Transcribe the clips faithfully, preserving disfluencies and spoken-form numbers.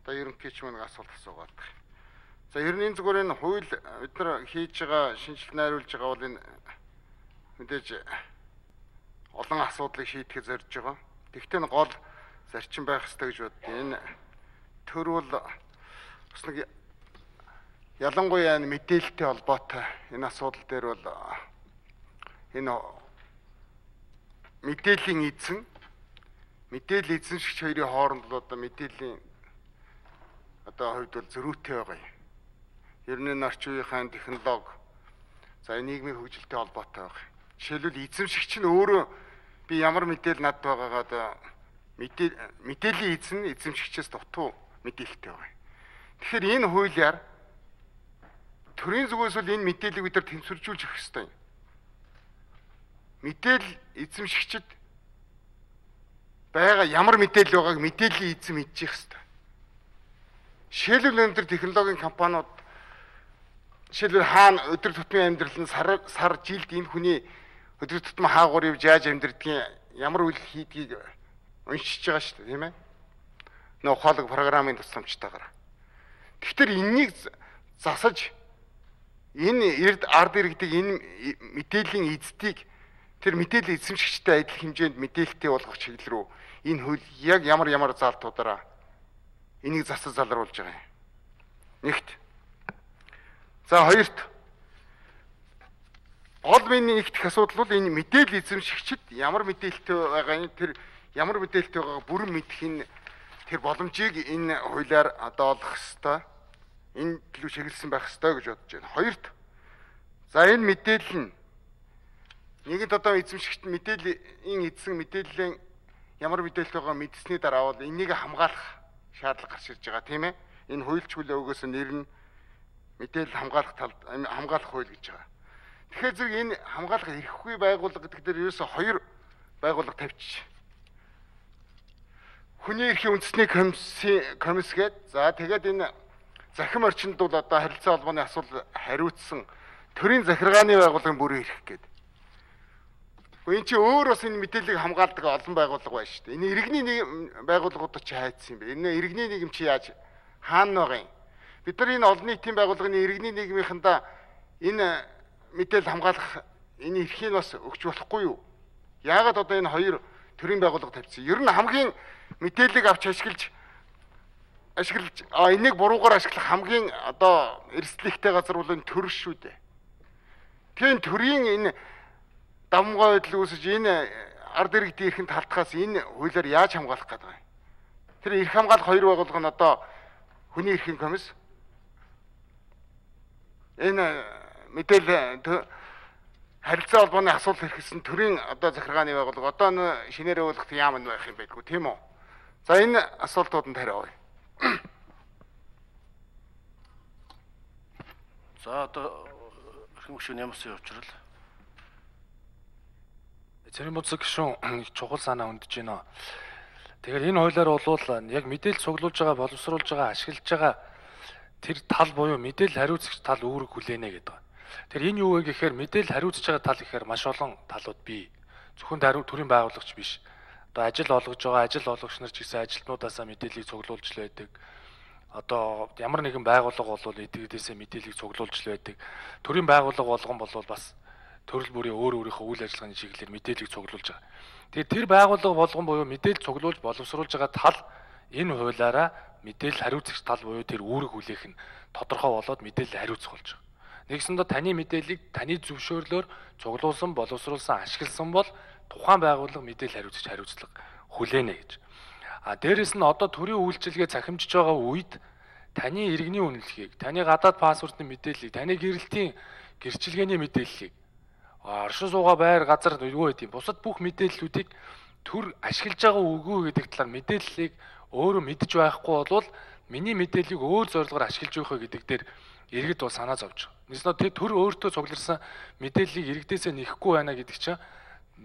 одоо ерөнхийч мөн асуулт асуугаад байна. За ер нь энэ зүгээр энэ хууль бид нар хийж байгаа шинжилгээ найруулж байгаа бол энэ мэдээж олон асуудлыг шийдэхэд зорж байгаа. Тэгвэл нь гол зарчим байх ёстой гэж боддог. Энэ төр бол бас нэг ялангуяа энэ мэдээлэлтэй холбоотой энэ асуудал дээр бол энэ мэдээллийн эзэн мэдээлэл эзэншигч хоёрын хооронд л одоо мэдээллийн одоо хувьд бол зөрүүтэй байгаа юм. Ер нь орчин үеийн технологи за нийгмийн хөгжилтэй холбоотой байгаа. Жишээлбэл эзэмшигч нь өөрөө би ямар мэдээлэл надад байгаагаа одоо мэдээллийн эзэн эзэмшигчээс дутуу мэдээлэлтэй байгаа. Тэгэхээр энэ хуулиар төрийн зүгээс бол энэ мэдээллийг бид нар тэнцвэржүүлж өгөх ёстой юм. Мэдээлэл эзэмшигчд байгаа ямар мэдээлэл байгааг мэдээллийн эзэн мэдчих ёстой. Жишээлбэл өндөр технологийн компаниуд жишээлбэл хаана өдөр тутмын амьдрал нь сар сар жилд энэ хүний өдөр тутмын хаагуур явж яаж амьдрдгийг ямар үйл хийдгийг уншиж байгаа шүү дээ, тийм ээ. Нөө ухаалаг програмын тусламжтайгаар. Тэгэхээр энэнийг засаж энэ эрд ард иргэдэг энэ мэдээллийн эздийг тэр мэдээлэл эзэмшигчтэй адил хэмжээнд мэдээлэлтэй болгох чиглэл рүү энэ хууль яг ямар ямар заалтуудаараа энийг засаж залруулж байгаа юм. Нэгт. За хоёрт. Гол миний нэгдэх асуудал бол энэ мэдээлэл эзэмшигчд ямар мэдээлэлтэй байгаа энэ тэр ямар мэдээлэлтэй байгааг бүрэн мэдэх энэ тэр боломжийг энэ хуулиар одоо олох ёстой. Энэ төлөв чиглэсэн байх ёстой гэж бодож байна. Хоёрт. За энэ мэдээлэл нь нэгэнт одоо эзэмшигчд мэдээллийн эзэн мэдээллийн ямар мэдээлэл байгаа мэдсэний дараа бол энийг хамгаалах шаардлага гарч ирж байгаа, тийм ээ. Энэ хуульч хүлээ өгөөс нэр нь мэдээлэл хамгаалах талд хамгаалах хууль гэж байгаа. Тэгэхээр зэрэг энэ хамгаалах эрхгүй байгууллага гэдэг дээр ерөөсө хоёр байгууллага тавьчих. Хүний эрхийн үндэсний комиссын комисс гээд за тэгээд энэ захим орчинд бол одоо харилцаа холбооны асуудал хариуцсан төрийн захиргааны байгууллагын бүрэн эрх гээд. Энэ чи өөр бас энэ мэдээллийг хамгаалдаг олон байгууллага байна шүү дээ. Энэ иргэний нэг байгууллагууд чи хайцсан юм бэ? Энэ иргэний нийгэм чи яаж хаана байгаа юм? Бид нар энэ олон нийтийн байгууллагын иргэний нийгмийнхэндээ энэ мэдээлэл хамгаалах энэ эрхийг бас өгч болохгүй юу? Яагаад одоо энэ хоёр төрийн байгууллага тавьчихсан? Ер нь хамгийн мэдээллийг авч ашиглаж ашиглаж а энийг буруугаар ашиглах хамгийн одоо эрсдлэгтэй газар бол энэ төр шүү дээ. Тэгэхээр төрийн энэ давмгай байдал үүсэж энэ ард иргэдийн эрхэнд халтахаас энэ хуулиар яаж хамгаалах гэдэг вэ? Тэр эрх хамгаалах хоёр байгууллага нь одоо хүний эрхийн комисс энэ мэдээлэл харилцаа холбооны асуудал хэрэгсэн төрийн одоо захиргааны байгууллага одоо н шинээр өгөх яам нь байх юм байдгүй тийм үү? За энэ асуултууданд хариу авъя. За одоо эрхэм гишүүн ямарсан явуучрал Цэрийн боцог гишүүн чухал санаа өндөж байна. Тэгэхээр энэ хуулиар бол яг мэдээлэл цуглуулж байгаа, боловсруулж байгаа, ашиглаж байгаа тэр тал буюу мэдээлэл хариуцагч тал үүрэг хүлээнэ гэдэг. Тэгэхээр энэ юу вэ гэхээр мэдээлэл хариуцж байгаа тал гэхээр маш олон талууд бий. Зөвхөн даруй төрийн байгуулагч биш. Одоо ажил олгож байгаа ажил олгогч нар ч гэсэн ажилтнуудаасаа мэдээллийг цуглуулж л байдаг. Одоо ямар нэгэн байгууллага бол эдгээрээсээ мэдээллийг цуглуулж л байдаг. Төрийн байгууллага болгон бол бас төрөл бүрийн өөр өөрийнхөө үйл ажиллагааны чиглэлээр мэдээллийг цуглуулж байгаа. Тэгэхээр тэр байгууллага болгон буюу мэдээлэл цуглуулж боловсруулж байгаа тал энэ хуулиараа мэдээлэл хариуцагч тал буюу тэр үүрэг хүлээх нь тодорхой болоод мэдээлэл хариуцах болж байгаа. Нэгсэндээ таны мэдээллийг таны зөвшөөрлөөр цуглуулсан, боловсруулсан, ашигласан бол тухайн байгууллага мэдээлэл хариуцагч хариуцлага хүлээнэ гэж. А дээрэс нь одоо төрийн үйлчилгээ цахимжиж байгаа үед таны иргэний үнэлгээг, таны гадаад паспортын мэдээллийг, таны гэрэлтийн гэрчилгээний мэдээллийг оршин суугаа байр газар юу гэдэг юм бусад бүх мэдээллүүдийг төр ашиглаж байгаа үгүй гэдэг талаар мэдээллийг өөрөө мэдж байхгүй бол миний мэдээллийг өөр зорилгоор ашиглаж явах гэдэг дээр иргэд бол санаа зовж байгаа. Нэгснэ тэр төр өөртөө цугларсан мэдээллийг иргэдээсээ нэхэхгүй байна гэдэг чинь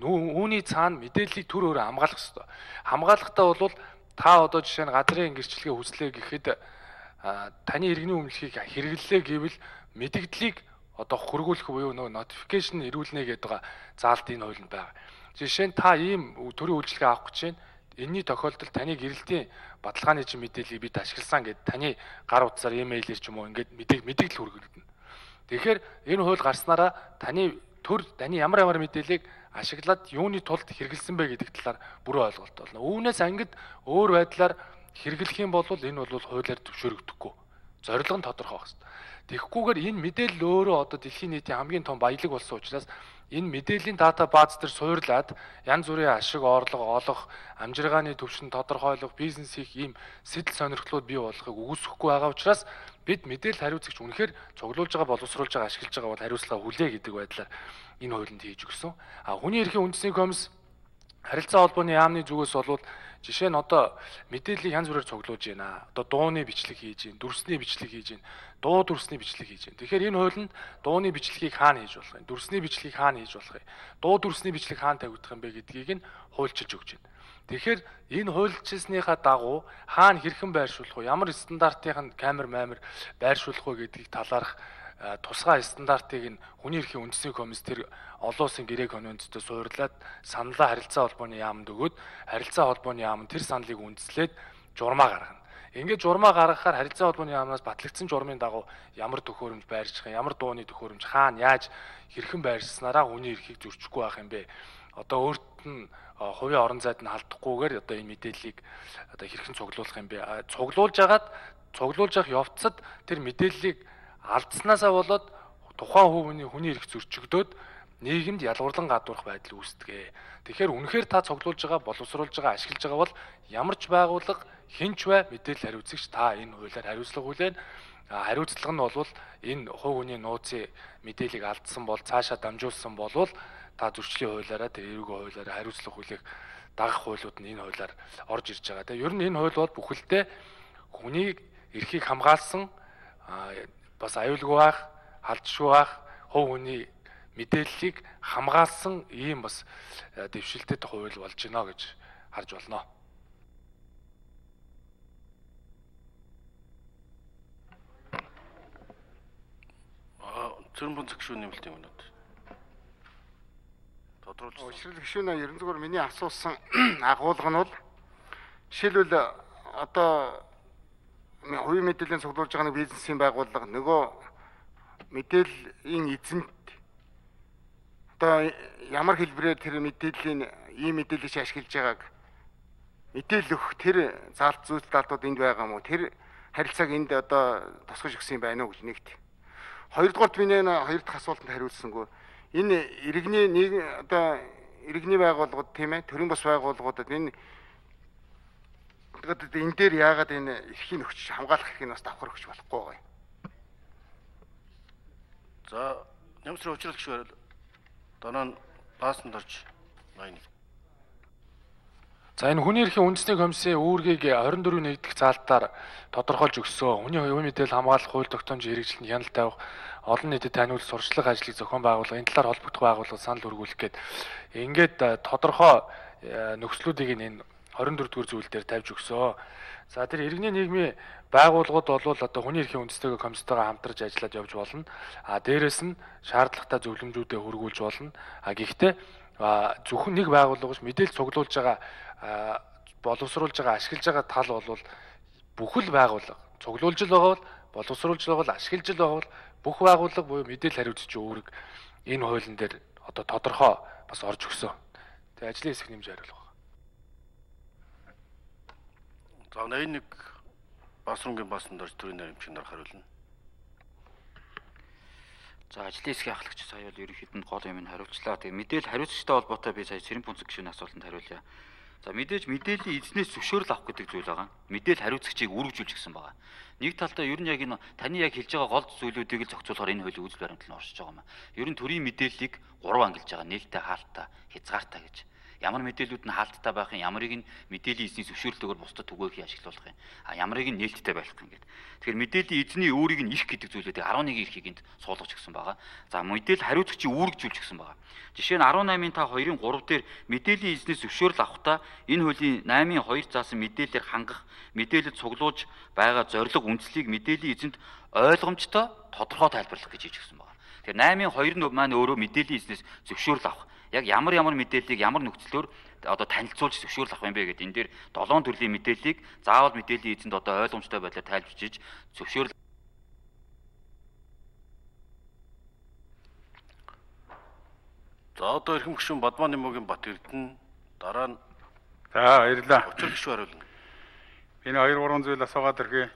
үүний цаана мэдээллийг төр өөрөө хамгаалах хэрэгтэй. Хамгаалахтаа бол та одоо жишээ нь газрын гэрчлэгээ хүслээ гэхэд таны иргэний өмнөлхийг хэрэглэлээ гэвэл мэдээллийг одоо хөргүүлэх буюу нөгөө notification ирүүлнэ гэдэг байгаа заалт энэ хуулинд байгаа. Жишээ нь та ийм төрийн үйлчилгээ авах гэж байна. энэний тохиолдолд таны гэрэлтийн баталгааны чинь мэдээллийг бид ашигласан гэд таны гар утсаар имэйлээр ч юм уу ингээд мэдээлэл хүргэнэ. Тэгэхээр энэ хууль гарснараа таны төр таны ямар ямар мэдээллийг ашиглаад юуны тулд хэрэгэлсэн бэ гэдэг талаар бүрэн ойлголт болно. Үүнээс ангид өөр байдлаар хэрэглэх юм бол энэ бол хуулиар зөвшөөрөгдөхгүй. Зорилго нь тодорхой байх хэрэгтэй. Тэгэхгүйгээр энэ мэдээлэл өөрөө одоо дэлхийн нийтийн хамгийн том баялаг болсон учраас энэ мэдээллийн дата бааз дээр суурлаад янз бүрийн ашиг орлого олох, амжиргааны түвшин тодорхойлох, бизнес хийх ийм сэтэл сонирхлууд бий болохыг үгүйсэхгүй байгаа учраас бид мэдээлэл хариуцагч үнэхээр цуглуулж байгаа, боловсруулж байгаа, ашиглаж байгаа бол хариуцлага хүлээ гэдэг байдлаар энэ хуулинд хийж өгсөн. А хүний эрхийн үндэсний комисс харилцаа холбооны яамны зүгээс болвол жишээ нь одоо мэдээллийг янз бүрээр цуглуулж байна. Одоо дууны бичлэг хийж байна, дүрсний бичлэг хийж байна, дуу дүрсний бичлэг хийж байна. Тэгэхээр энэ хуулинд дууны бичлэгийг хаана хийж болох юм? Дүрсний бичлэгийг хаана хийж болох юм? Дуу дүрсний бичлэг хаана тавигдах юм бэ гэдгийг нь хуульчилж өгч байна. Тэгэхээр энэ хуульчилсныхаа дагуу хаана хэрхэн байршуулах вэ? Ямар стандартын камер маамир байршуулах вэ гэдгийг талаарх тусгай стандартыг нь хүний эрхийн үндэсний комисс тэр олон улсын гэрээ конвенцтэй суурлаад саналаа харилцаа холбооны яамд өгөөд харилцаа холбооны яам нь тэр саналыг үндэслээд журмаа гаргана. Ингээд журмаа гаргахаар харилцаа холбооны яамнаас батлагдсан журмын дагуу ямар төхөөрөмж байрших юм, ямар дууны төхөөрөмж хаана яаж хэрхэн байршснараа хүний эрхийг зөрчихгүй байх юм бэ? Одоо өөрт нь хувийн орон зайд нь халдахгүйгээр одоо энэ мэдээллийг одоо хэрхэн цуглуулах юм бэ? Цуглуулж агаад цуглуулж явах явцад тэр мэдээллийг алдснаасаа болоод тухайн хувийн хүний эрх зөрчигдөөд нийгэмд ялгуурлан гадуурх байдал үүсдэг. Тэгэхээр үнэхээр та цуглуулж байгаа, боловсруулж байгаа, ашиглаж байгаа бол ямар ч байгууллага хинч бай мэдээлэл хариуцагч та энэ хуулиар хариуцлага хүлээн. Хариуцлага нь бол энэ хувь хүний нууцын мэдээллийг алдсан бол цаашаа дамжуулсан болвол та зөрчлийн хуулиараа тэр эрүүгийн хуулиараа хариуцлага хүлээх дагах хуулиуд нь энэ хуулиар орж ирж байгаа. Тэгээ ер нь энэ хууль бол бүхэлдээ хүний эрхийг хамгаалсан бас аюулгүй байх, халдшгүй байх, хувь хүний мэдээллийг хамгаалсан ийм бас дэвшилтэд хууль болж байна гэж харж болно. Аа, зөвхөн бүнц гишүүн нэмэлт юм уу? Тодруулж. Ушрал гишүүнээ ерөн зүгээр миний асуусан агуулга нь бол жишээлбэл одоо хувийн мэдээллийн цуглуулж байгаа нэг бизнесийн байгууллага нөгөө мэдээллийн эзэнт одоо ямар хэлбэрээр тэр мэдээллийн ийм мэдээллийг ашиглаж байгааг мэдээлэл өгөх тэр заалт зүйл талууд энд байгаа мó тэр харилцааг энд одоо тусгаж өгсөн юм байна уу гэж нэгт. Хоёрдугаарт миний хоёр дахь асуултанд хариулсангүй энэ иргэний нэг одоо иргэний байгууллагууд тийм ээ төрийн бас байгууллагуудад энэ тэгээд энэ дээр яагаад энэ эрхийн нөхцөл хамгаалах эрхийг бас давхар өгч болохгүй байгаа юм. За, нэмсрийн учрал гişвэр дараа нь баасанд орж байна. За энэ хүний эрхийн үндэсний комиссийн үүргийг хорин дөрвийн нэгдэх заалтаар тодорхойлж өгсөн. Хүний хувийн мэдээлэл хамгаалах хууль тогтоомжийн хэрэгжилтэнд хяналт тавих, олон нийтэд таниулах, сурчлах ажлыг зохион байгуулах, энэ талаар холбогдох байгууллага санал өргүүлэх гээд ингээд тодорхой нөхцлүүдийг энэ хорин дөрвдүгээр зүйл дээр тавьж өгсөн. За тэр иргэний нийгмийн байгууллагууд бол одоо хүний эрхийн үндэсний комисстойгоо хамтарч ажиллаад явж болно. А дээрэс нь шаардлагатай зөвлөмжүүдэд хөргүүлж болно. А гэхдээ зөвхөн нэг байгууллага биш мэдээлэл цуглуулж байгаа боловсруулж байгаа ашиглаж байгаа тал бол бүхэл байгууллага цуглуулж л байгаа бол боловсруулж байгаа бол ашиглаж л байгаа бол бүх байгууллага буюу мэдээлэл хариуцч үүрэг энэ хуулийн дээр одоо тодорхой бас орж өгсөн. Тэгээ ажлын хэсэг нэмж хариулах. За энэ нэг басрунгийн басанд орж төрийн наримчийн нар хариулна. За ажлын хэсгийн ахлагч сая бол ерөнхийдөө гол юм нь хариулчлаа. Тэгээ мэдээлэл хариуцагчтай холбоотой би сая Цэрэн Пүнцэг гишүүний асуултанд хариулъя. За мэдээж мэдээллийн эзнээс зөвшөөрөл авах гэдэг зүйл байгаа. Мэдээлэл хариуцагчийг үргэлжлүүлж гисэн байгаа. Нэг талдаа ер нь яг энэ таны яг хэлж байгаа гол зүйлүүдийг л зохицуулахаар энэ хуулийн үзэл баримтлал нь оршиж байгаа юм. Ер нь төрийн мэдээллийг гурав ангилж байгаа. Нээлттэй, хаалттай, хязгаартай гэж. Ямар мэдээлүүд нь хаалттай байх юм, ямарыг нь мэдээллийн эзний зөвшөөрлөөр бусдад түгээх ашиглуулах юм. А ямарыг нь нээлттэй байлгах юм гэдэг. Тэгэхээр мэдээллийн эзний өөрийг нь ирэх гэдэг зүйлүүдийг арван нэг эрхийг энд суулгаж гисэн байгаа. За мэдээлэл хариуцагчийн үүрэгжүүлж гисэн байгаа. Жишээ нь арван наймын та хоёрын гурав дээр мэдээллийн эзнээс зөвшөөрөл авахдаа энэ хуулийн наймын хоёр заасан мэдээлэлээр хангах, мэдээлэл цуглуулж байгаа зорилго үндслийг мэдээллийн эзэнд ойлгомжтой тодорхой тайлбарлах гэж хийж гисэн байгаа. Тэгэхээр наймын хоёр нь маань өөрөө мэдээллийн эзнээс зөвшөөрөл авах. Яг ямар ямар мэдээллийг ямар нөхцлөөр одоо танилцуулж зөвшөөрөл авах юм бэ гэдэг. Энэ дээр долоон төрлийн мэдээллийг заавал мэдээллийн эзэнд одоо ойлгомжтой байдлаар тайлбарчиж зөвшөөрөл. За одоо эрхэм гишүүн Бадмаа Нимогийн Бат Эрдэнэ дараа нь За баярлалаа. учир гишүүн хариулна. Энэ хоёр гурван зүйл асуугаад ирхээ.